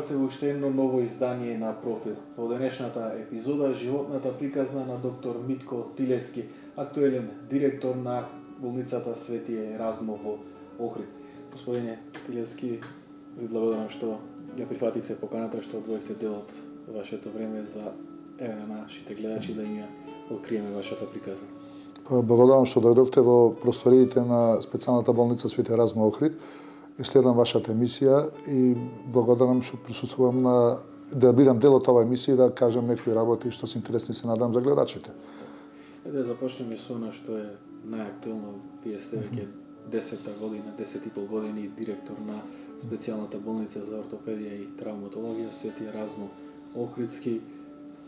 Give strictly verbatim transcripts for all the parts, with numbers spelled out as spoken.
добредошавте во уште едно ново издание на Профил. Во денешната епизода животната приказна на доктор Митко Тилевски, актуелен директор на болницата Свети Еразмо во Охрид. Господине Тилевски, ви благодарам што ја прифативте поканата, што одвоивте дел од вашето време за еве на нашите гледачи да им ја откриеме вашата приказна. Благодарам што дојдовте во просториите на специјалната болница Свети Еразмо Охрид. Следам вашата емисија и благодарам што присуствувам на да бидам дел од оваа емисија и да кажам некои работи што се интересни, се надам, за гледачите. Да започнеме со она што е најактуелно. Вие сте веќе десета година, десет и пол години директор на специјалната болница за ортопедија и травматологија Свети Еразмо Охридски.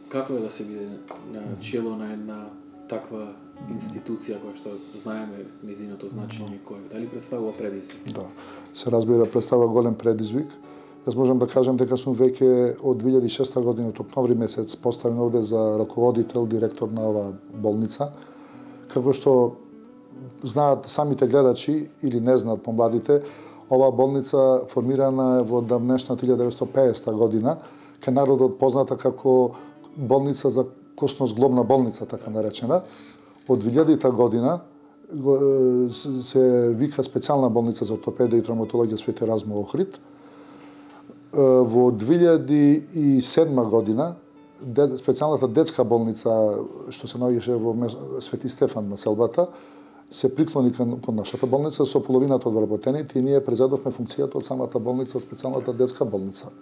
Како е да се биде на чело на една таква институција која што знаеме нејзиното значење кој дали представува предизвик? Да, се разбира, представува голем предизвик. Јас можам да кажам дека сум веќе од две илјади и шеста година, од октомври месец, поставен овде за раководител, директор на оваа болница. Како што знаат самите гледачи или не знаат помладите, оваа болница формирана е во давнешната илјада деветстотини и педесета година, кај народот позната како болница за косно-зглобна болница, така наречена. Од две илјадита година се вика специјална болница за ортопедија и травматологија Свети Еразмо Охрид. Во две илјади и седма година специјалната детска болница што се наоѓаше во Свети Стефан на селбата се приклони кон, кон нашата болница со половината од вработените и ние презедовме функцијата од самата болница, од специјалната детска болница.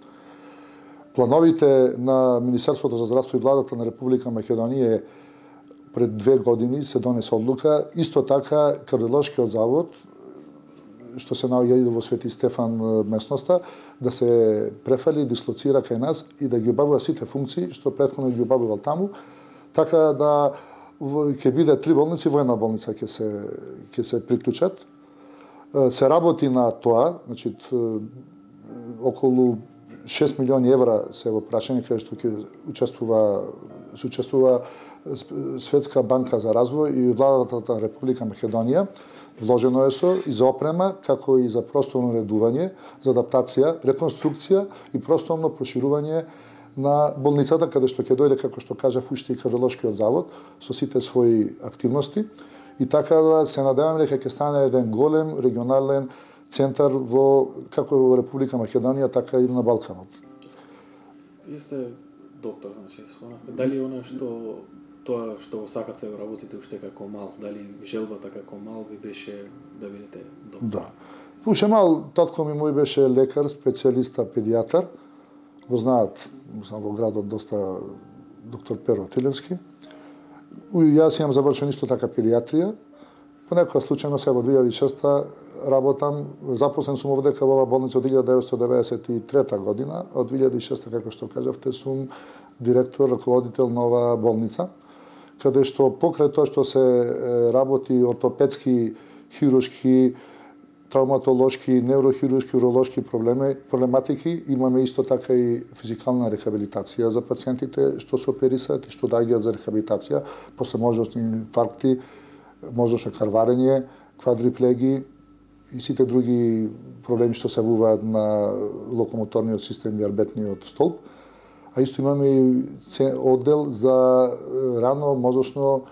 Плановите на Министерството за здравство и владата на Република Македонија е пред две години се донесе одлука, исто така кардиолошкиот завод, што се наоѓа во Свети Стефан местноста, да се префали, дислоцира кај нас и да ги обавува сите функции што претходно ги обавувал таму, така да ќе биде три болници, во една болница ќе се ќе се приклучат. Се работи на тоа, значи околу шест милиони евра се во прашање каде што ќе учествува се учествува Светска банка за развој и владата на Република Македонија. Вложено е со и за опрема, како и за просторно уредување, за адаптација, реконструкција и просторно проширување на болницата, каде што ќе дојде, како што кажав, уште и кардиолошкиот завод со сите своји активности. И така да се надеваме дека ќе стане еден голем регионален центар во како во Република Македонија, така и на Балканот. Вие сте доктор, значи, спомнавте. Дали она што тоа што сакавте да работите уште како мал, дали желбата како мал ви беше да бидете доктор? Да. Уште мал, татко ми мој беше лекар, специјалиста, педијатар. Го знаат, сам во градот доста доктор Перо Тилевски. Јас имам завршен исто така педијатрија. По некоја случајно се во две илјади и шеста работам, запослен сум овдека во оваа болница од илјада деветстотини деведесет и трета година, од две илјади и шеста, како што кажавте, сум директор, раководител на оваа болница, каде што покрај тоа што се работи ортопедски, хируршки, травматолошки, неврохируршки, уролошки проблеми, проблематики, имаме исто така и физикална рехабилитација за пациентите што се оперисаат и што доаѓаат за рехабилитација после можностни инфаркти, можеше карварење, квадриплеги и сите други проблеми што се јавуваат на локомоторниот систем и арбетниот столб. А исто имаме и оддел за рано мозочно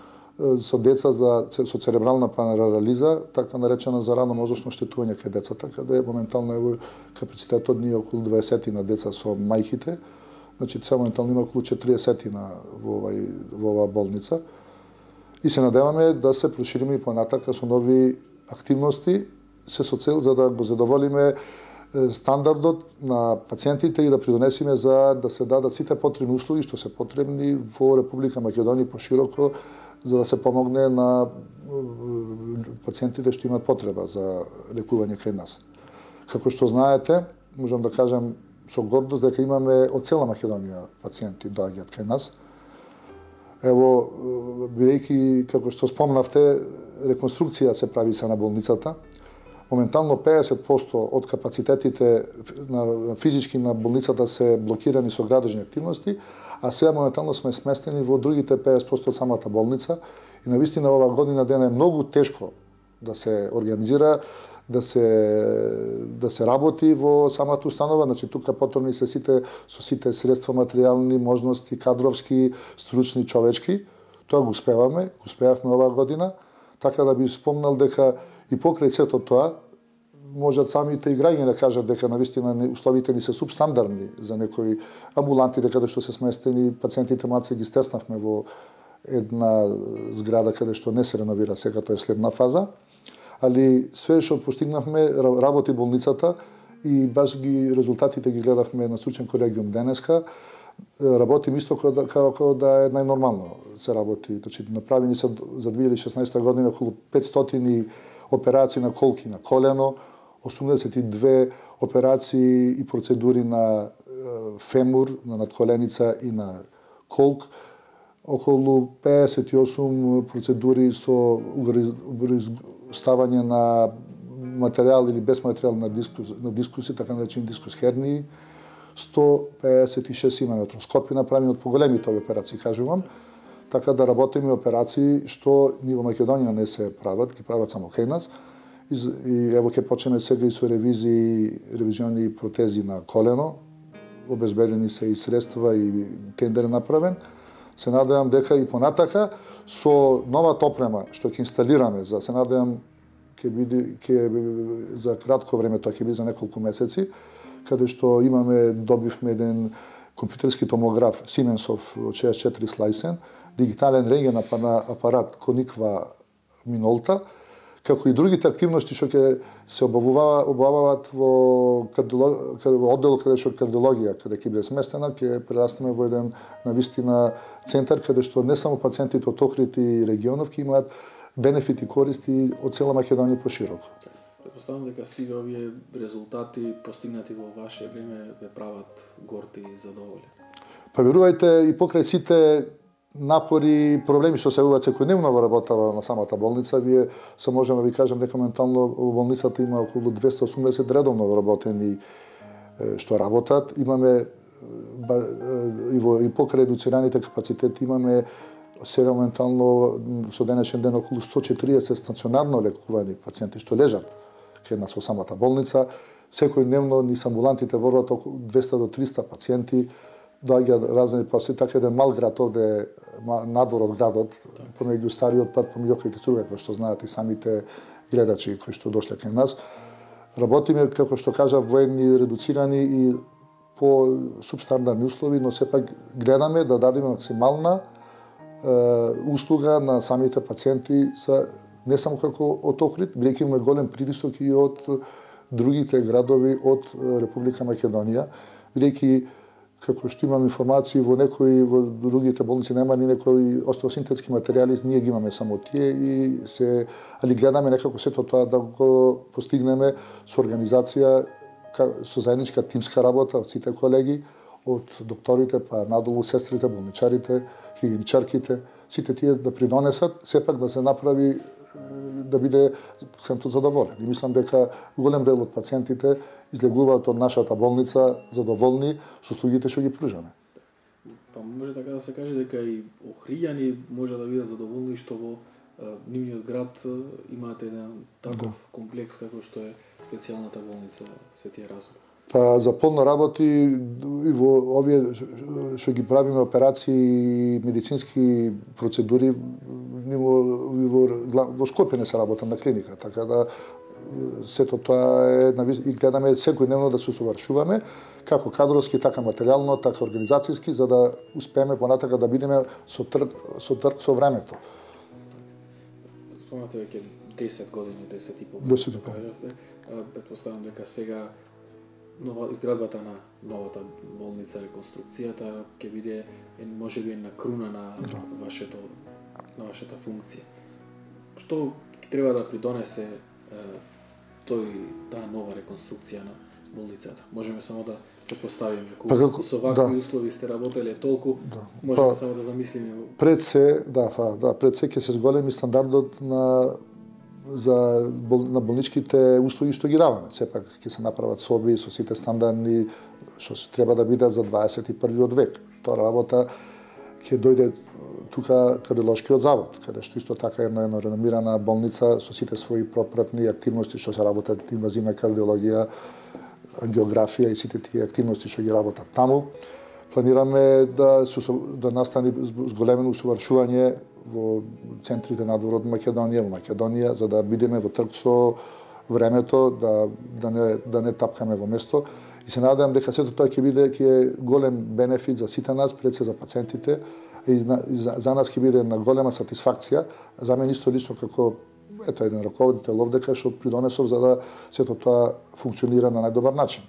со деца за со церебрална парализа, така наречена за рано мозочно оштетување кај децата, каде моментално е капацитетот ни околу дваесет на деца со мајките. Значи се моментално има околу четириесет на во овај во оваа болница. И се надеваме да се прошириме и понатака со нови активности, се со цел за да го задоволиме стандардот на пациентите и да придонесиме за да се дадат сите потребни услуги што се потребни во Република Македонија пошироко, за да се помогне на пациентите што имаат потреба за лекување кај нас. Како што знаете, можам да кажам со гордост дека имаме од цела Македонија пациенти доаѓаат кај нас. Ево, бидејќи, како што спомнавте, реконструкција се прави са на болницата. Моментално педесет проценти од капацитетите на физички на болницата се блокирани со градежни активности, а сега моментално сме сместени во другите педесет проценти од самата болница и навистина оваа година дена е многу тешко да се организира, да се да се работи во самата установа, значи тука потребни се сите со сите средства, материјални можности, кадровски, стручни, човечки. Тоа го успеваме, го успеавме оваа година, така да би спомнал дека и покрај сето тоа можат самите и граѓани да кажат дека навистина условите ни се субстандардни за некои амбуланти, дека што се сместени пациентите маце ги стеснавме во една зграда каде што не се реновира, сега тоа е следна фаза. Али све што постигнавме, работи болницата и баш ги резултатите ги гледавме на стручен колегиум денеска. Работим исто како, како да е најнормално се работи. Значи, направени се за две илјади и шеснаесета година околу петстотини операции на колки на колено, осумдесет и две операции и процедури на фемур, на надколеница и на колк, околу пеесет и осум процедури со ставање на материјал или без материјал на дискус, на дискуси, така наречени дискус хернии, сто пеесет и шест имаме артроскопи направени од поголемите операции, кажувам, така да работиме операции што ни во Македонија не се прават, ги прават само кај нас. И ево ќе почнеме сега и со ревизии, ревизиони протези на колено, обезбедени се и средства и тендер направен. Се надевам дека и понатака со новата опрема што ќе инсталираме, за се надевам ќе биде ќе за кратко време, тоа ќе биде за неколку месеци, каде што имаме добивме еден компјутерски томограф Сименсов од шеесет и четири слајсен, дигитален рентген апарат Кониква Минолта, како и другите активности што ќе се обавуваат во оддел каде што кардиологија, каде ќе биде сместена, ќе прерастеме во еден навистина центар каде што не само пациентите од Охрид и регионов ќе имаат бенефити и користи од цела Македонија пошироко. Претпоставам дека сите овие резултати постигнати во ваше време ве прават горди и задоволени. Па верувајте, и покрај сите напори и проблеми што се јавуваат секојдневно во работава на самата болница, вие се можеме да ви кажам дека моментално во болницата има околу двесте и осумдесет редовно вработени што работат. Имаме и во и покрај редуцираните капацитети имаме сега моментално со денешен ден околу сто и четириесет стационарно лекувани пациенти што лежат кај нас во самата болница. Секојдневно низ амбулантите ворват околу двесте до триста пациенти. Доаѓаат разни пациенти, така еден мал град овде надвор од градот, помеѓу стариот пат, помеѓу Охрид и Струга, кои што знаат и самите гледачи кои што дошле кај нас. Работиме, како што кажа, воени редуцирани и по субстандардни услови, но сепак гледаме да дадеме максимална е, услуга на самите пациенти, са, не само како од Охрид, бидејќи имаме голем притисок и од другите градови од Република Македонија, бидејќи како што имам информации во некои во другите болници нема ни некои остеосинтетски материјали, ние ги имаме само тие и се али гледаме некако сето тоа да го постигнеме со организација, со заедничка тимска работа од сите колеги, од докторите па надолу сестрите, болничарите, хигиеничарките, сите тие да придонесат сепак да се направи да биде пациентот задоволен. И мислам дека голем дел од пациентите излегуваат од нашата болница задоволни со услугите што ги пружаме. Па може така да се каже дека и охриѓани може да бидат задоволни што во нивниот град имаат еден таков да. комплекс како што е специјалната болница Свети Еразм. Па за полно работи и во овие што ги правиме операции и медицински процедури во, во, во Скопје не се работа на клиника, така да сето тоа е и гледаме секојдневно да се усовршуваме како кадровски, така материјално, така организацијски, за да успееме понатака да бидеме со трк со трк со времето. Спомнате веќе десет години, десет и пол. десет и пол. Претпоставам дека сега нова изградбата на новата болница, реконструкцијата ќе биде можеби на круна на да. вашето на вашата функција. Што треба да придонесе е, тој таа нова реконструкција на болницата? Можеме само да предпоставиме колку па, како, со вакви да. услови сте работеле толку, да. можеме па, само да замислиме. Пред се, да, фа, да, пред се ќе се зголеми стандардот на за бол, на болничките услуги што ги даваме. Сепак ќе се направат соби со сите стандардни што треба да бидат за дваесет и првиот век. Тоа работа ќе дојде тука кардиолошкиот завод, каде што исто така една, една реномирана болница со сите своји пропратни активности што се работат инвазивна кардиологија, ангиографија и сите тие активности што ги работат таму. Планираме да да настани зголемено усовршување во центрите надвор од Македонија, во Македонија, за да бидеме во трг со времето, да да не да не тапкаме во место. И се надевам дека сето тоа ќе биде ќе е голем бенефит за сите нас, пред се за пациентите, и за, за нас ќе биде една голема сатисфакција. За мене исто лично како ето еден раководител овдека што придонесов за да сето тоа функционира на најдобар начин.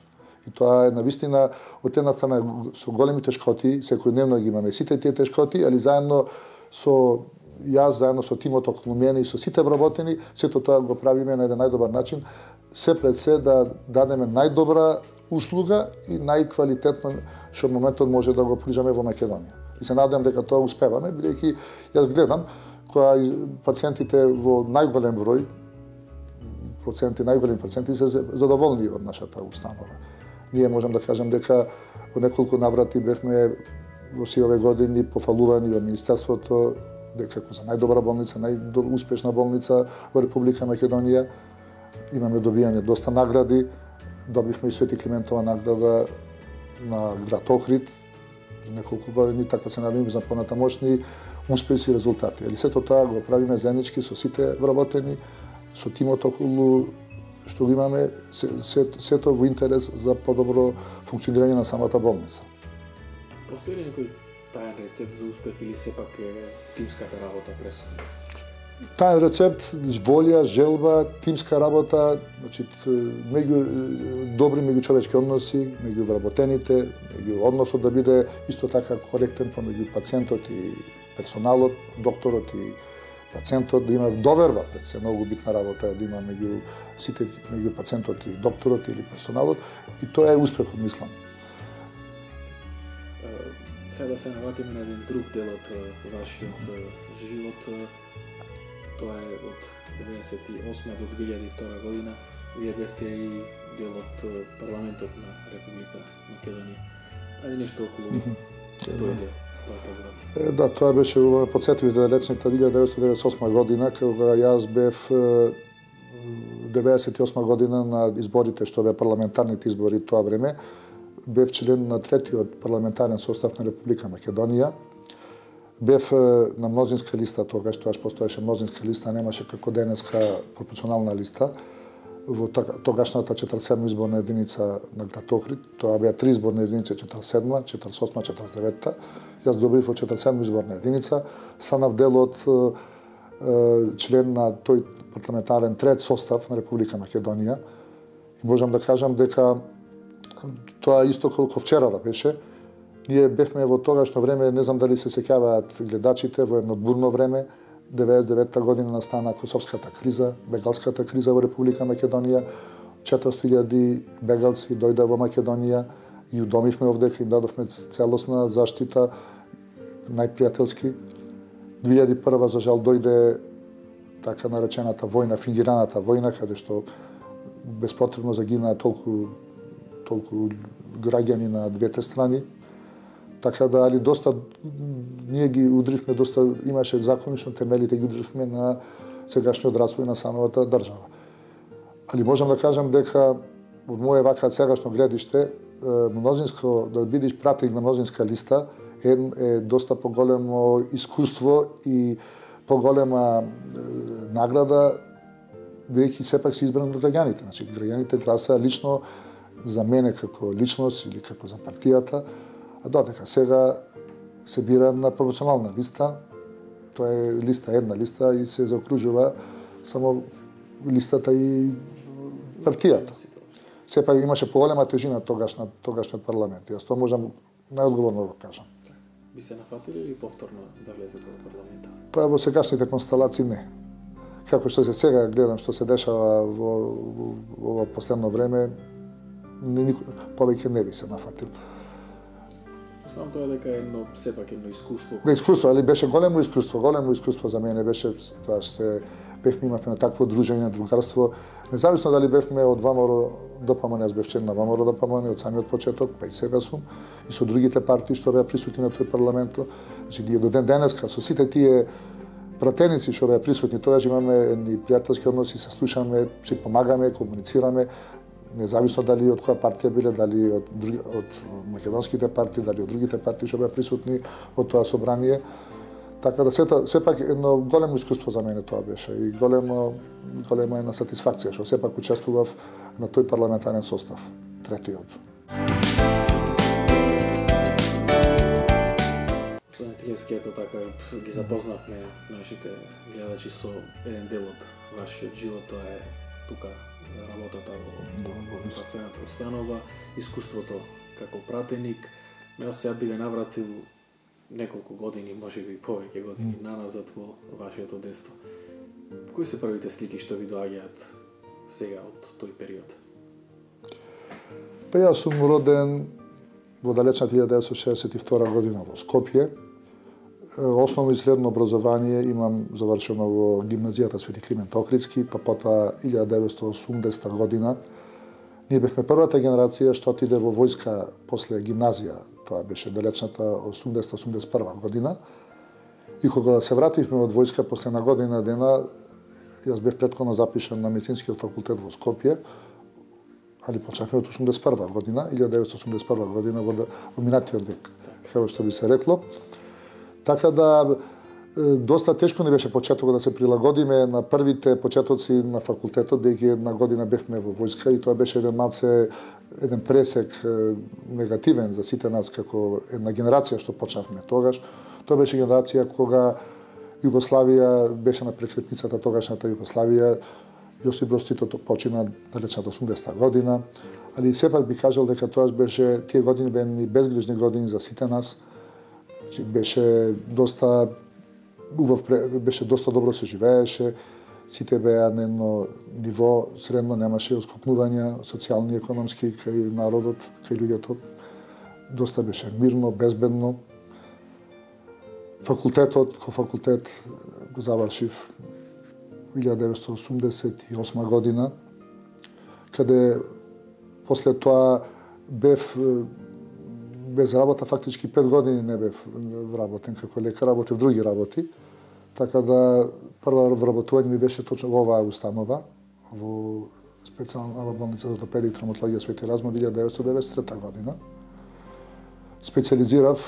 И тоа е навистина од една страна со големи тешкоти, секојдневно ги имаме сите тие тешкоти, али заедно со јас, заедно со тимот околу мене и со сите вработени, сето тоа го правиме на еден најдобар начин, се пред се да дадеме најдобра услуга и најквалитетно што во моментот може да го пружаме во Македонија. И се надевам дека тоа успеваме, бидејќи јас гледам кога пациентите во најголем број, проценти, најголеми проценти се задоволни од нашата установа. Ние можам да кажам дека во неколку наврати бевме во сите овие години пофалувани од Министерството дека како за најдобра болница, најуспешна болница во Република Македонија. Имаме добијани доста награди. Добивме и Свети Климентова награда на град Охрид пред неколку години, така се надеваме за понатамошни успеси и резултати. Али сето тоа го правиме заеднички со сите вработени, со тимот околу што го имаме, сето, сето во интерес за подобро функционирање на самата болница. Постои ли некој таен рецепт за успех или сепак е тимската работа пресудна? Таен рецепт, волја, желба, тимска работа, значи меѓу добри меѓучовечки односи, меѓу вработените, меѓу односот да биде исто така коректен помеѓу пациентот и персоналот, докторот и пациентот, да има доверба, пред се многу битна работа да има меѓу сите меѓу пациентот и докторот или персоналот, и тоа е успехот, мислам. Сега да се навратиме на еден друг дел од вашиот живот. Тоа е од деветдесет и осма до две илјади и втора година. Вие бевте и дел од парламентот на Република Македонија. Ајде нешто околу mm -hmm. тој дел, тоа програм. Да, тоа беше, подсетив да речната илјада деветстотини деветдесет и осма година, кога јас бев деветдесет и осма година на изборите, што бе парламентарните избори тоа време, бев член на третиот парламентарен состав на Република Македонија. Бев на мнозинска листа, тогаш тоа постоеше мнозинска листа, немаше како денеска пропорционална листа во тогашната четиридесет и седма изборна единица на град Охрид. Тоа беа три изборни единици, четиридесет и седма, четиридесет и осма, четиридесет и девета. Јас добив во четиридесет и седма изборна единица, станав дел од член на тој парламентарен трет состав на Република Македонија. И можам да кажам дека тоа исто колку вчера да беше. Ние бевме во тогашно време, не знам дали се сеќаваат гледачите, во едно бурно време, деветдесет и девета година настана Косовската криза, бегалската криза во Република Македонија, четиристотини илјади бегалци дојда во Македонија, и удомивме овдека, им дадовме целосна заштита, најпријателски. две илјади и прва за жал дојде така наречената војна, фингираната војна, каде што безпотребно загинаа толку толку граѓани на двете страни. Така да, али доста, ние ги удривме, доста имаше законично темелите, ги удривме на сегашниот развој на самата држава. Али можам да кажам дека од моје вака сегашно гледиште, мнозинско, да бидеш пратеник на мнозинска листа е, е доста поголемо искуство и поголема е, награда, бидејќи сепак се избран од граѓаните. Значи, граѓаните гласаа лично за мене како личност или како за партијата, а додека сега се бира на пропорционална листа, тоа е листа, една листа и се заокружува само листата и партијата. Сепак имаше поголема тежина тогаш на тогашниот парламент. Јас тоа можам најодговорно да кажам. Би се нафатили или повторно да влезете во парламентот? Па во сегашните констелации не. Како што се сега гледам што се дешава во, во, во, во последно време, никој повеќе не би се нафатил. Само тоа дека едно сепак едно искуство. Не искуство, али беше големо искуство, големо искуство за мене беше тоа што се бевме имавме на такво дружење, другарство. Независно дали бевме од ВМРО ДПМН, јас бев член на ВМРО ДПМН од самиот почеток, па и сега сум, и со другите партии што беа присутни на тој парламент. Значи ние до ден денеска со сите тие пратеници што беа присутни, тогаш имаме едни пријателски односи, се слушаме, си помагаме, комуницираме, независно дали од која партија биле, дали од други, од македонските партии, дали од другите партии што беа присутни од тоа собрание. Така да сета, сепак едно големо искуство за мене тоа беше и големо голема една сатисфакција што сепак учествував на тој парламентарен состав, третиот. Господин Тилевски, ето така ги запознавме нашите гледачи со еден дел од вашиот живот, тоа е тука работата во здравствената установа, искуството како пратеник. Ме сега би го навратил неколку години, може би повеќе години mm. наназад во вашето детство. Кои се првите слики што ви доаѓаат сега од тој период? Па јас сум роден во далечната илјада деветстотини шесет и втора година во Скопје. Основно и средно образование имам завршено во гимназијата Свети Климент Охридски, па потоа илјада деветстотини и осумдесета година. Ние бевме првата генерација што отиде во војска после гимназија, тоа беше далечната осумдесета осумдесет и прва година. И кога се вративме од војска после на година дена, јас бев претходно запишан на медицинскиот факултет во Скопје, али почнавме од осумдесет и прва година, илјада деветстотини осумдесет и прва година во, во минатиот век, како што би се рекло. Така да доста тешко не беше почетокот да се прилагодиме на првите почетоци на факултетот, бидејќи една година бевме во војска и тоа беше еден малце еден пресек негативен за сите нас како една генерација што почнавме тогаш. Тоа беше генерација кога Југославија беше на прекретницата, тогашната Југославија. Јосип Брз Тито почина далечната осумдесета година, али сепак би кажал дека тоа беше тие години беа безгрижни години за сите нас. Значи беше доста убав, беше доста добро се живееше, сите беа на едно ниво средно, немаше оскокнувања социјални и економски кај народот, кај луѓето. Доста беше мирно, безбедно. Факултетот, ко факултет го завршив илјада деветстотини осумдесет и осма година, каде после тоа бев без работа, фактички пет години не бев вработен како лекар, работев други работи. Така да прва вработување ми беше точно во оваа установа, во специјална болница за ортопедија и травматологија Свети Разм илјада деветстотини деветдесет и трета година. Специјализирав,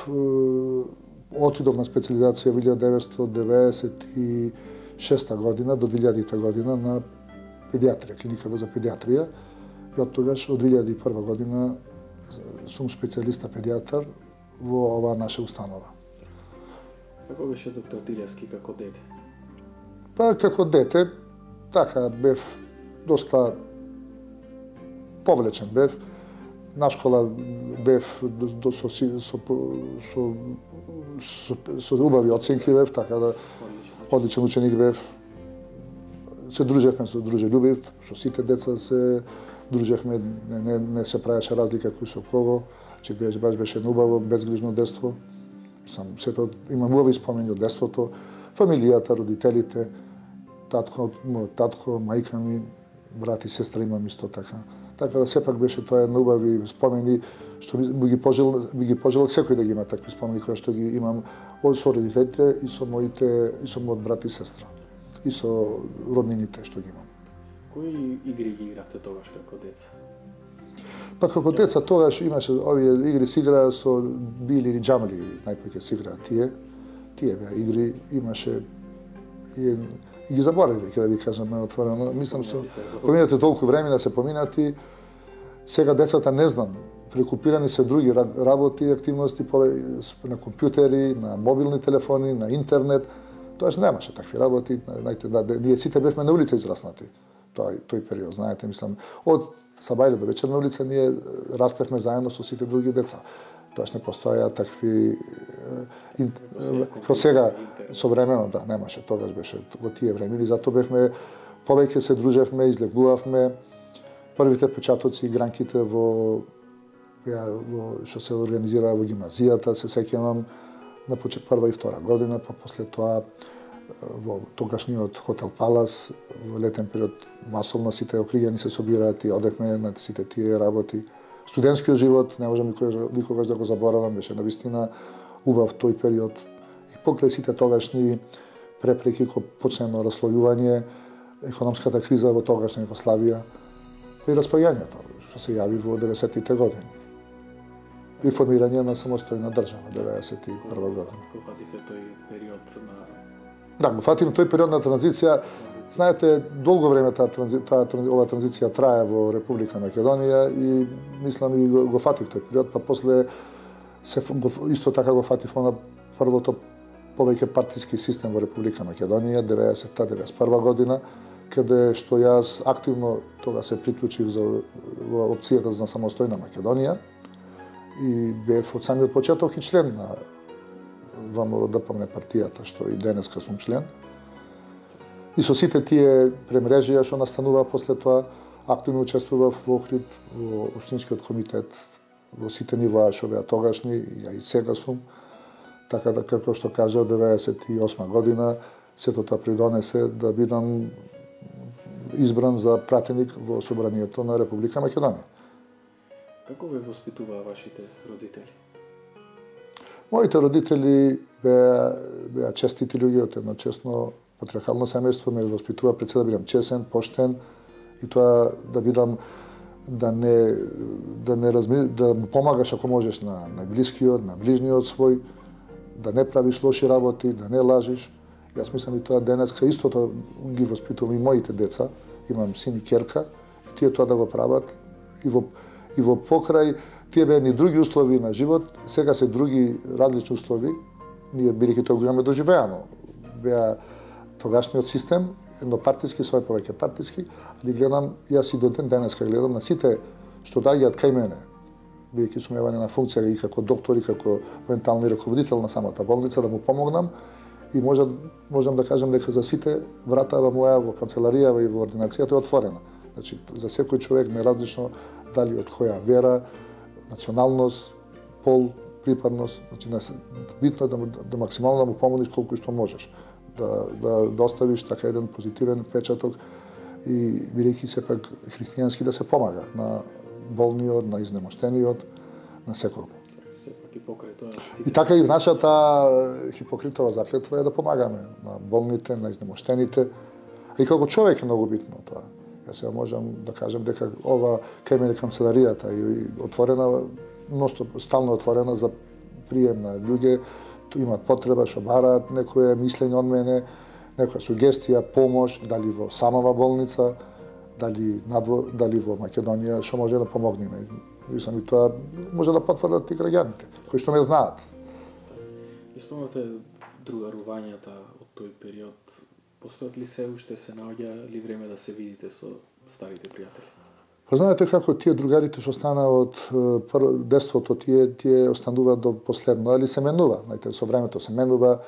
отидов на специјализација во илјада деветстотини деветдесет и шеста година до две илјадите година на педиатрија, клиниката за педиатрија. И од тогаш, од две илјади и прва година, сум специјалиста педиатар во оваа наша установа. Како беше доктор Тилевски како дете? Па како дете, така бев доста повлечен бев. На школа бев до, со, со, со, со, со, со убави оценки бев, така да одличен ученик бев. Се дружевме со дружелюбив, со сите деца се дружевме, не, не, не се правеше разлика кој со кого, че беше баш беше убаво, безгрижно детство. Сам сето имам убави спомени од детството, фамилијата, родителите, татко, мојот татко, мајка ми, брат и сестра имам исто така. Така да сепак беше тоа една убави спомени што би ги пожелал, би ги пожелал секој да ги има такви спомени кои што ги имам од со родителите и со моите и со мојот брат и сестра и со роднините што ги имам. Кои игри ги игравте тогаш како деца? Па како деца тогаш имаше овие игри се играа со били или џамли, најпоќе се играа тие. Тие беа игри, имаше и, и ги заборавив веќе да ви кажам најотворено. Мислам со поминате толку време да се поминати. Сега децата не знам, прекупирани се други работи и активности на компјутери, на мобилни телефони, на интернет. Тоаш немаше такви работи. Знаете, да, ние сите бевме на улица израснати. Тој тој период, знаете, мислам, од сабајле до вечерна улица ние растевме заедно со сите други деца. Тоаш не постоја такви како сега современо, да, немаше, тогаш беше во тие времени, затоа бевме повеќе се дружевме, излегувавме. Првите початоци игранките во Ја, во, што се организира во гимназијата, се сеќавам на почет прва и втора година, па после тоа во тогашниот хотел Палас, во летен период масовно сите окригани се собираат и одехме на сите тие работи. Студентскиот живот, не можам никогаш да го заборавам, беше навистина убав тој период. И покрај сите тогашни препреки кои почнено раслојување, економската криза во тогашна Југославија и распаѓањето што се јави во деветдесетите години. И формирање на самостојна држава деветдесет и прва година. Го фатите тој период на Да, го фатим тој период на транзиција. Знаете, долго време таа транзи, таа ова транзиција трае во Република Македонија и мислам и го, го фатив тој период, па после се го, исто така го фатив на првото повеќе партиски систем во Република Македонија деветдесетта деветдесет и прва година, каде што јас активно тога се приклучив за во опцијата за самостојна Македонија и бев од самиот почеток и член на ВМРО-ДПМНЕ партијата, што и денеска сум член. И со сите тие премрежија што настанува после тоа, активно учествував во Охрид, во општинскиот комитет, во сите нивоа што беа тогашни, ја и сега сум. Така да, како што кажа, деветдесет и осма година, сето тоа придонесе да бидам избран за пратеник во Собранието на Република Македонија. Како ве воспитуваа вашите родители? Моите родители беа, беа честити луѓе од едно честно патриархално семејство, ме воспитува пред се да бидам чесен, поштен и тоа да бидам да не да не разми, да му помагаш ако можеш на најблискиот, на ближниот свој, да не правиш лоши работи, да не лажиш. Јас мислам и тоа денеска истото ги воспитувам и моите деца. Имам син и керка и тие тоа да го прават и во и во покрај тие беа ни други услови на живот, сега се други различни услови. Ние бидејќи тоа го имаме доживеано. Беа тогашниот систем, еднопартиски, свој повеќе партиски, али гледам, јас и до ден денеска гледам на сите што доаѓаат кај мене, бидејќи сум јавен на функција и како доктор и како ментални раководител на самата болница, да му помогнам и можам, можам да кажам дека за сите вратава моја во канцеларијава и во ординацијата е отворена. Значи, за секој човек, неразлично дали од која вера, националност, пол, припадност, значи битно е да, му, да максимално да му помогнеш колку што можеш. Да, да, да оставиш така еден позитивен печаток и бидејќи сепак христијански да се помага на болниот, на изнемоштениот, на секого. Сепак и покрај тоа. И така и нашата Хипокритова заклетва е да помагаме на болните, на изнемоштените. И како човек е многу битно тоа. Јас сега можам да кажам дека ова кај мене канцеларијата е отворена, ностоп, стално отворена за прием на луѓе, имаат потреба, што бараат некое мислење од мене, некоја сугестија, помош, дали во самава болница, дали надво, дали во Македонија, што може да помогнеме. Мислам и тоа може да потврдат и граѓаните, кои што не знаат. Испомнате другарувањата од тој период. Постојат ли се уште, се наоѓа ли време да се видите со старите пријатели? Па знаете како тие другарите што стана од детството, тие тие остануваат до последно, али се менува. Знаете, со времето се менува.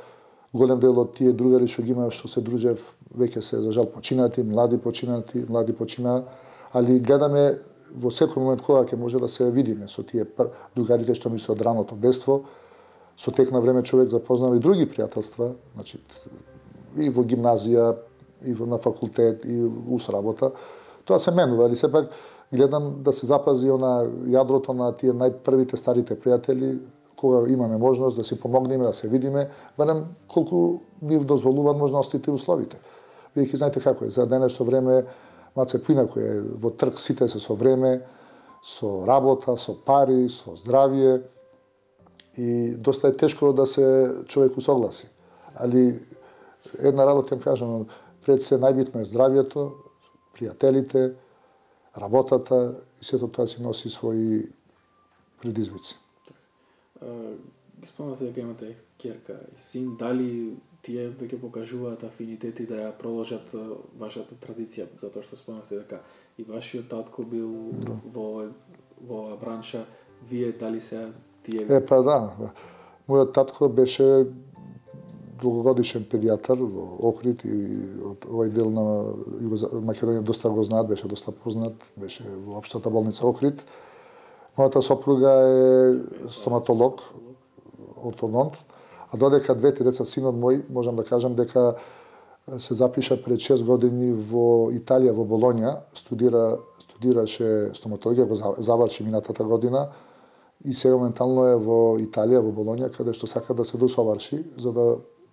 Голем дел од тие другари што ги имав, што се дружев, веќе се за жал починати, млади починати, млади почина, али гледаме во секој момент кога ќе може да се видиме со тие другарите што ми се од раното детство. Со тек на време човек запознава и други пријателства, значи и во гимназија, и во на факултет, и ус работа. Тоа се менува, али сепак гледам да се запази она јадрото на тие најпрвите старите пријатели, кога имаме можност да си помогнеме, да се видиме, барем колку ни дозволуваат можностите и условите. Бидејќи знаете како е, за денешно време маце поинаку е, во трг сите се со време, со работа, со пари, со здравје и доста е тешко да се човек усогласи. Али една работа им кажам, пред се најбитно е здравјето, пријателите, работата и сето тоа си носи своји предизвици. Спомнате дека имате керка и син, дали тие веќе покажуваат афинитети да ја продолжат вашата традиција, затоа што спомнате дека и вашиот татко бил да. во во бранша, вие дали се тие? Е па да, мојот татко беше долгогодишен педијатар во Охрид и од овој дел на Македонија доста го знаат, беше доста познат, беше во општата болница Охрид. Мојата сопруга е стоматолог, ортодонт, а додека двете деца, синот мој, можам да кажам дека се запиша пред шест години во Италија, во Болонја, студира, студираше стоматологија, го заврши минатата година и сега моментално е во Италија, во Болонја, каде што сака да се досоврши за да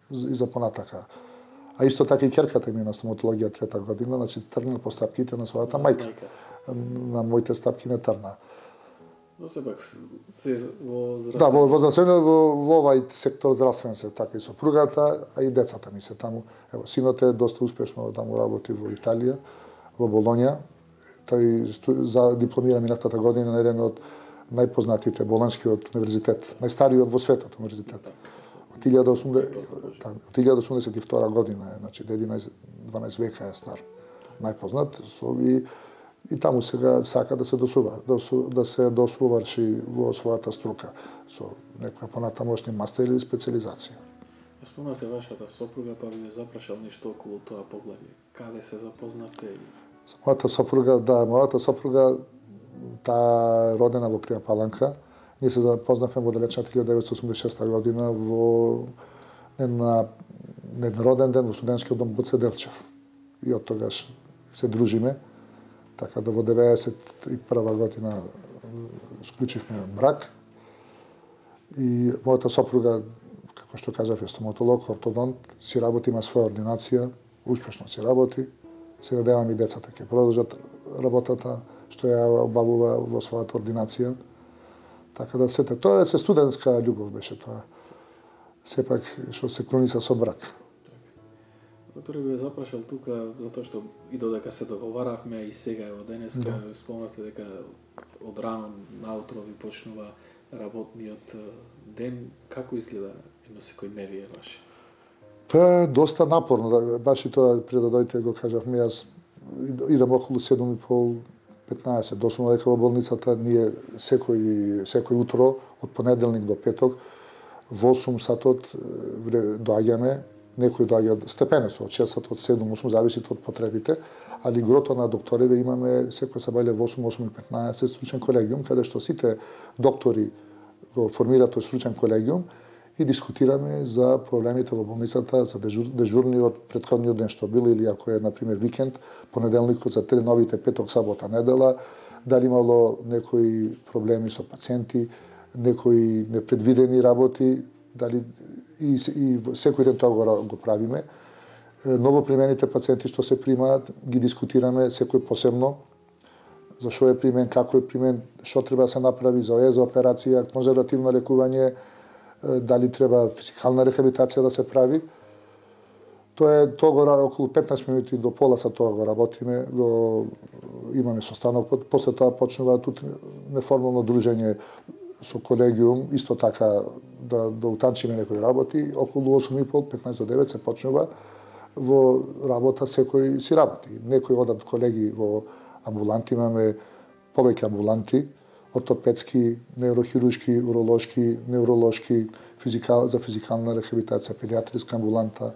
и за понатака. А исто така и ќерката ми на стоматологија трета година, значи тргна по стапките на својата мајка. На моите стапки не тргна. Но сепак се во здравствен... Да, во, во здравствено, во, во овај сектор здравствен се, така и сопругата, а и децата ми се таму. Ево, синот е доста успешно таму работи во Италија, во Болонја. Тој за дипломира минатата година на еден од најпознатите болонскиот универзитет, најстариот во светот универзитет. Од илјада осумдесет и втора година е, значи единаесет-дванаесет века е стар. Најпознат со и и таму сега сака да се досува, да се досуварши во својата струка со некоја понатамошни мастер или специализација. Спомнате вашата сопруга, па ви запрашал нешто околу тоа поглавје. Каде се запознавте? Мојата сопруга, да, мојата сопруга, таа родена во Крија Паланка. Ние се запознавме во далечната илјада деветстотини осумдесет и шеста година во на еден роден ден во студентскиот дом Гоце Делчев. И од тогаш се дружиме. Така да во деветдесет и прва година склучивме брак. И мојата сопруга, како што кажав, е стоматолог, ортодонт, си работи, има своја ординација, успешно си работи. Се надевам и децата ќе продолжат работата што ја обавува во својата ординација. Така да сете, тоа е се студентска љубов беше тоа. Сепак што се клониса со брак. Доктор ви запрашал тука затоа што и додека се договаравме и сега е од денеска, да. Спомнавте дека од рано наутро ви почнува работниот ден. Како изгледа едно секој дневие ваше? Тоа е доста напорно, баш и тоа пред да дојдете го кажавме, јас идам околу седум и пол петнаесет, дословно дека во болницата ние секој секој утро од понеделник до петок во осум сатот доаѓаме. Некои доаѓаат степенесо, од шест од седум осум, зависи од потребите, али грото на докториве имаме секој сабајле во осум, осум и петнаесет стручен колегиум, каде што сите доктори го формираат тој стручен колегиум и дискутираме за проблемите во болницата, за дежур, дежурниот претходниот ден што бил, или ако е, например, викенд, понеделникот за три новите петок, сабота, недела, дали имало некои проблеми со пациенти, некои непредвидени работи, дали и, и секој ден тоа го, го правиме. Новопримените пациенти што се примаат, ги дискутираме секој посебно, за што е примен, како е примен, што треба да се направи за ОЕ, за операција, конзервативно лекување, дали треба физикална рехабилитација да се прави. Тоа е тоа го околу петнаесет минути до пола са тоа го работиме, го имаме состанокот, после тоа почнува тут неформално дружење со колегиум, исто така да, да утанчиме некои работи, околу осум и пол, петнаесет до девет се почнува во работа, секој си работи. Некои одат колеги во амбуланти, имаме повеќе амбуланти, ортопедски, неврохирушки, уролошки, невролошки, физикал, за физикална рехабилитација, педиатриска амбуланта,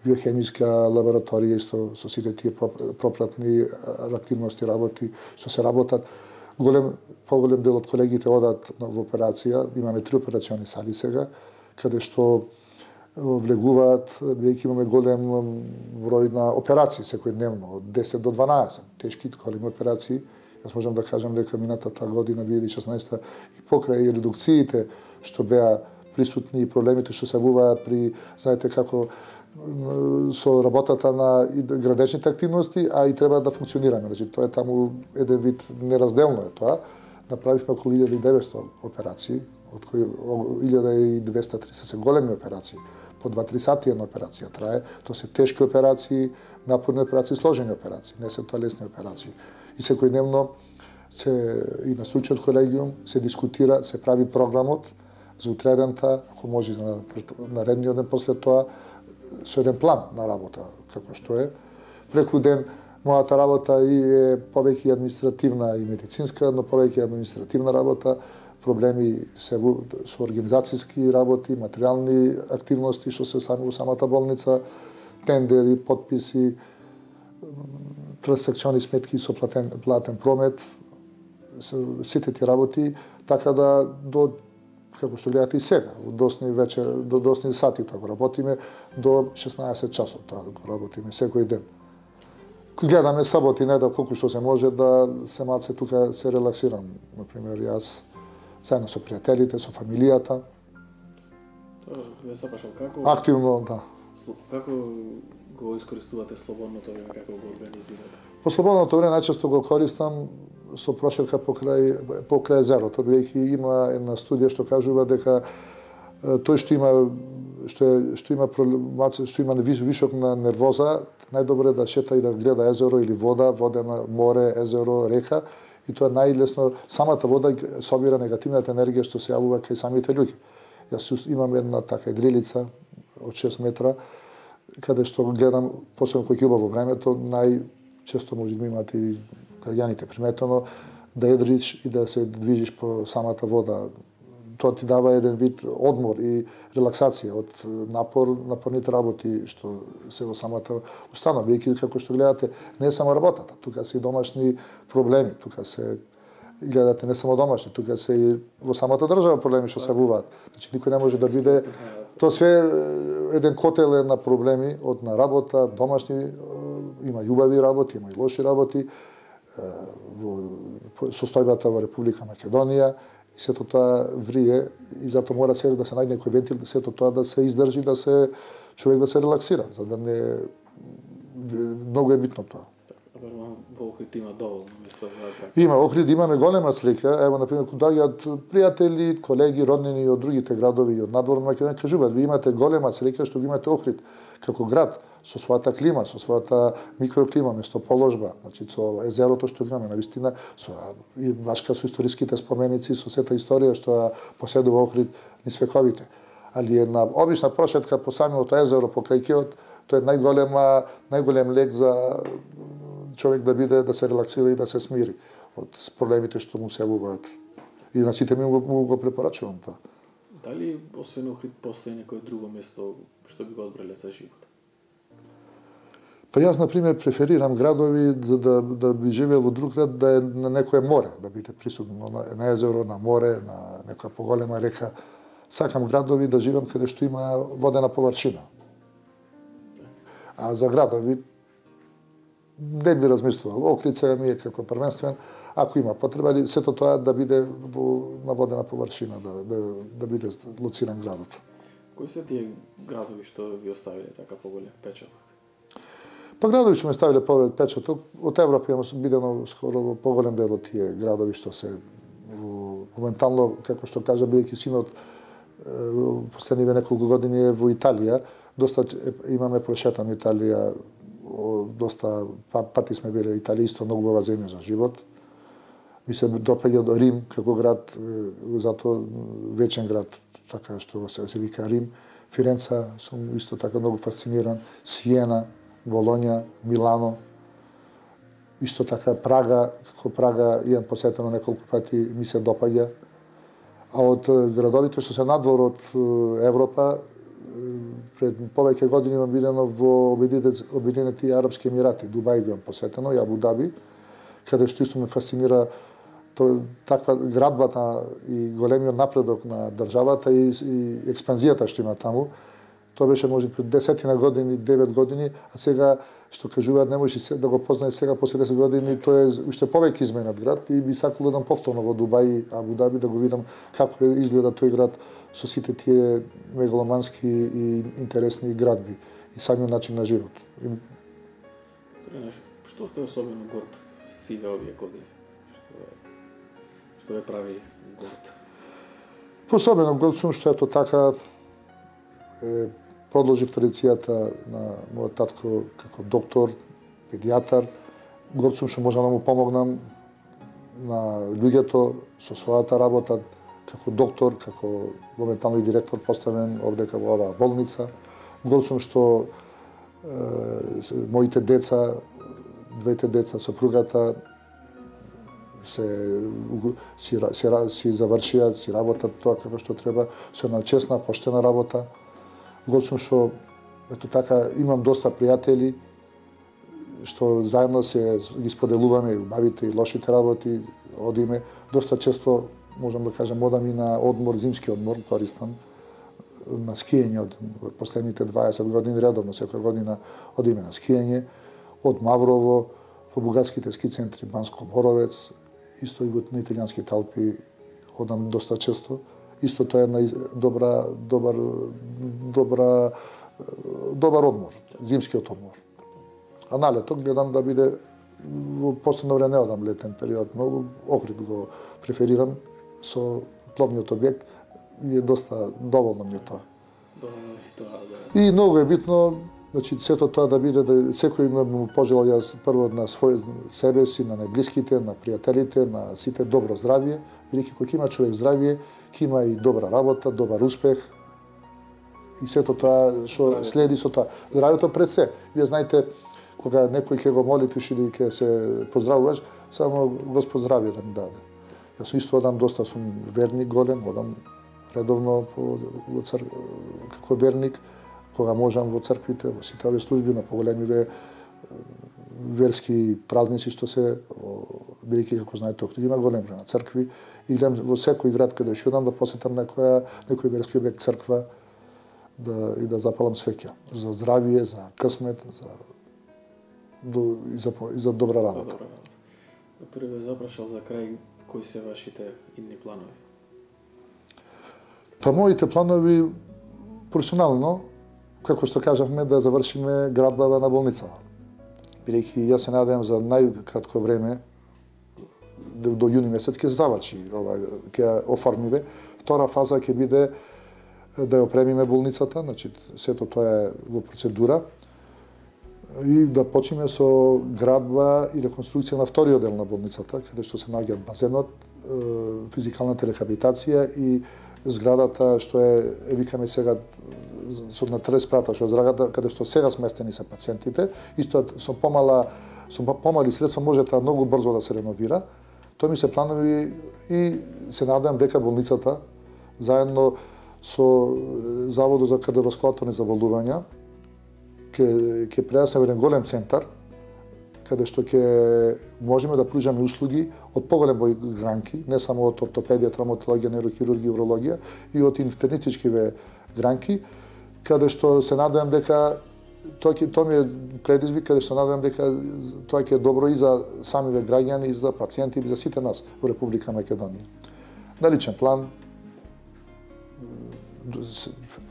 биохемиска лабораторија, исто со сите тие пропратни активности работи, што се работат. Голем, поголем дел од колегите одат во операција, имаме три операциони сали сега, каде што влегуваат, бидејќи имаме голем број на операции секој дневно, од десет до дванаесет, тешки, големи операции. Јас можам да кажам дека минатата година, две илјади и шеснаесета, и покрај редукциите што беа присутни и проблемите што се јавуваа при, знаете како, со работата на градечните активности, а и треба да функционираме. Значи, тоа е таму еден вид неразделно е тоа. Направивме околу илјада и деветсто операции, од кои илјада и двеста тридесет се големи операции. По два-три сати една операција трае. Тоа се тешки операции, напорни операции, сложени операции, не се тоа лесни операции. И секојдневно се и на стручниот колегиум се дискутира, се прави програмот за утредента, ако може на наредниот ден после тоа, со еден план на работа, како што е. Преку ден, мојата работа и е повеќе административна и медицинска, но повеќе административна работа, проблеми се со организацијски работи, материјални активности што се сами во самата болница, тендери, подписи, трансакциони сметки со платен, платен промет, сите ти работи, така да до како што гледате и сега, до досни вечер, до досни сати тоа го работиме, до шеснаесет часот тоа го работиме секој ден. Гледаме сабота и недел колку што се може да се малце тука се релаксирам. Например, јас заедно со пријателите, со фамилијата. Ве запашал како? Активно, да. Како го искористувате слободното време, како го организирате? По слободното време најчесто го користам со прошетка покрај покрај езерото, бидејќи има една студија што кажува дека тој што има што е што има проблемација, што има вишок на нервоза, најдобро е да шета и да гледа езеро или вода, водена море, езеро, река, и тоа најлесно самата вода собира негативната енергија што се јавува кај самите луѓе. Јас имам една така идрилица од шест метра, каде што гледам, посебно кој ќе убаво времето, најчесто може да имате и граѓаните приметено, да едриш и да се движиш по самата вода. Тоа ти дава еден вид одмор и релаксација од напор, напорните работи што се во самата установа. Бидејќи како што гледате, не е само работата, тука се и домашни проблеми, тука се гледате не само домашни, тука се и во самата држава проблеми што се јавуваат. Значи никој не може да биде тоа све еден котел е на проблеми од на работа, домашни, има и убави работи, има и лоши работи, во состојбата во Република Македонија, и сето тоа врие и затоа мора се да се најде некој вентил, сето тоа да се издржи, да се човек да се релаксира, за да не многу е битно тоа. Во Охрид има доволно места за така. Има Охрид, имаме голема слика. Ево, например, кога доаѓаат пријатели, колеги, роднини од другите градови и од надворно Македонија, кажуваат, ви имате голема слика што ги имате Охрид како град со својата клима, со својата микроклима, местоположба, значи со езерото што имаме навистина, со и башка со историските споменици, со сета историја што поседува Охрид низ вековите. Али една обична прошетка по самото езеро покрај кеот, тоа е најголема најголем лек за човек да биде, да се релаксира и да се смири од проблемите што му се јавуваат. И на сите ми му, му го препорачувам тоа. Дали освен Охрид постои некое друго место што би го одбрале за живот? Па јас, например, преферирам градови за да, да би живеел во друг град, да е на некое море, да биде присутно на, на езеро, на море, на некоја поголема река. Сакам градови да живеам каде што има водена површина. А за градови не би размислувал. Охрид сега ми е како првенствен, ако има потреба, или сето тоа да биде во на водена површина, да, да, да биде лоциран градот. Кои се тие градови што ви оставиле така поголем впечаток? Па градови што ме ставиле поголем впечаток, од Европа имам бидено скоро во поголем дел од тие градови што се во, моментално, како што кажа, бидејќи синот во последниве неколку години е во Италија, доста имаме прошетано Италија, доста пати сме биле. Италија исто многу убава земја за живот. Ми се допаѓа до Рим како град, затоа вечен град, така што се, се вика Рим. Фиренца сум исто така многу фасциниран. Сиена, Болоња, Милано. Исто така Прага, како Прага имам посетено неколку пати, ми се допаѓа. А од градовите што се надвор од Европа, пред повеќе години имам бидено во Обединети Арапски Емирати, Дубај го имам посетено, и Абу Даби, каде што исто ме фасцинира то, таква градбата и големиот напредок на државата и, и експанзијата што има таму. Тоа беше може пред десетина години, девет години, а сега што кажуваат не може да го познае сега после десет години, тоа е уште повеќе изменет град и би сакал да идам повторно во Дубај и Абу Даби да го видам како изгледа тој град со сите тие мегаломански и интересни градби и самиот начин на живот. И... Што сте особено горд сиве овие години? Што, што ве прави горд? Особено горд сум што ето така е, продолжив традицијата на мојот татко како доктор, педијатар. Горд сум што можам да му помогнам на луѓето со својата работа како доктор, како моментално и директор поставен овде во оваа болница. Горд сум што е, моите деца, двете деца, сопругата се си, си, си завршија, си работат тоа како што треба, со една честна, поштена работа. Горд сум што ето така имам доста пријатели што заедно се ги споделуваме и убавите и лошите работи, одиме. Доста често, можам да кажам, одам и на одмор, зимски одмор, користам, на скијање од последните дваесет години, редовно, секоја година одиме на скијање, од Маврово, во бугарските ски центри Банско Боровец, исто и во на италијанските Алпи одам доста често. Исто тоа е една добра, добар, добра, добар одмор, зимскиот одмор. А на лето гледам да биде, во последно време не одам летен период, многу Охрид го преферирам со пловниот објект, ми е доста доволно ми е тоа. Доволно е тоа, да. И многу е битно, значи сето тоа да биде, да секој му пожелал јас прво на свој себе си, на најблиските, на пријателите, на сите добро здравје, бидејќи кога има човек здравје, ќе има и добра работа, добар успех и сето тоа што следи со тоа. Здравјето пред се. Вие знаете, кога некој ќе го молитвиш или ќе се поздравуваш, само Господ здравје да ми даде. Јас исто одам, доста сум верник голем, одам редовно по, во цр... како верник, кога можам во црквите, во сите овие служби, на поголемиве верски празници што се, бидејќи како знаете Охрид има голем број на цркви, и идем во секој град каде што одам да посетам некоја некој верски објект, црква, да и да запалам свеќа за здравје, за късмет, за до, и за и за добра работа. Добра работа. Докторе, ве запрашал за крај, кои се вашите идни планови? Па моите планови професионално, како што кажавме, да завршиме градбава на болницава. Бидејќи јас се надевам за најкратко време, до јуни месец ќе се заврши ова, ќе оформиве. Втора фаза ќе биде да ја опремиме болницата, значи сето тоа е во процедура, и да почнеме со градба и реконструкција на вториот дел на болницата, каде што се наоѓаат базенот, физикалната рехабилитација и зградата што е, е викаме сега со на трес прата, што е зградата каде што сега сместени се пациентите, исто со помала со помали средства може таа многу брзо да се реновира. Тоа ми се планови и се надевам дека болницата заедно со Заводот за кардиоваскуларни заболувања ќе ќе прерасне во еден голем центар каде што ќе можеме да пружаме услуги од поголем број гранки, не само од ортопедија, травматологија, нейрохирургија, урологија, и од интернистичкиве гранки, каде што се надевам дека тоа ќе тоа ми е предизвик, каде што надевам дека тоа ќе е добро и за самиве граѓани, и за пациенти, и за сите нас во Република Македонија. На личен план,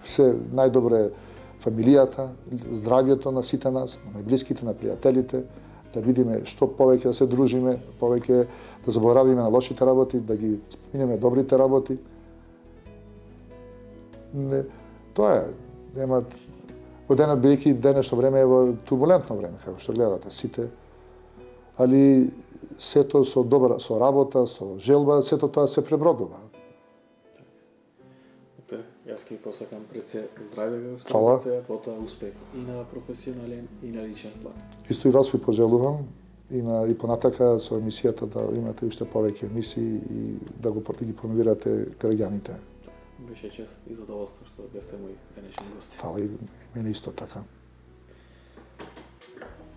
се најдобро е фамилијата, здравјето на сите нас, на најблиските, на пријателите, да видиме што повеќе да се дружиме, повеќе да заборавиме на лошите работи, да ги споминеме добрите работи. Не, тоа е, нема во денот, бидејќи денешно време е во турбулентно време, како што гледате сите, али сето со добра, со работа, со желба, сето тоа се пребродува. Јас ќе посакам пред се здравје, Фала. потоа успех и на професионален и на личен план. Исто и вас ви пожелувам и на и понатака со емисијата да имате уште повеќе емисии и да го да ги промовирате граѓаните. Беше чест и задоволство што бевте мои денешни гости. Фала и мене исто така.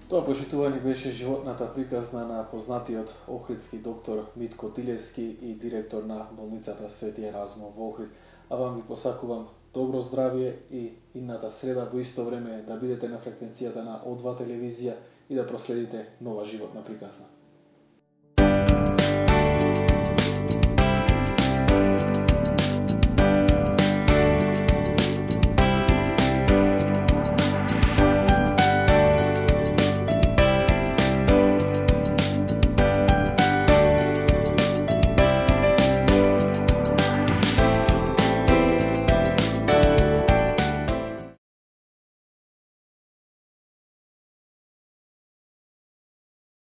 Тоа, почитувани, беше животната приказна на познатиот охридски доктор Митко Тилевски и директор на болницата Свети Еразмо во Охрид. А вам ви посакувам добро здравје и идната среда во исто време да бидете на фреквенцијата на О два телевизија и да проследите нова животна приказна.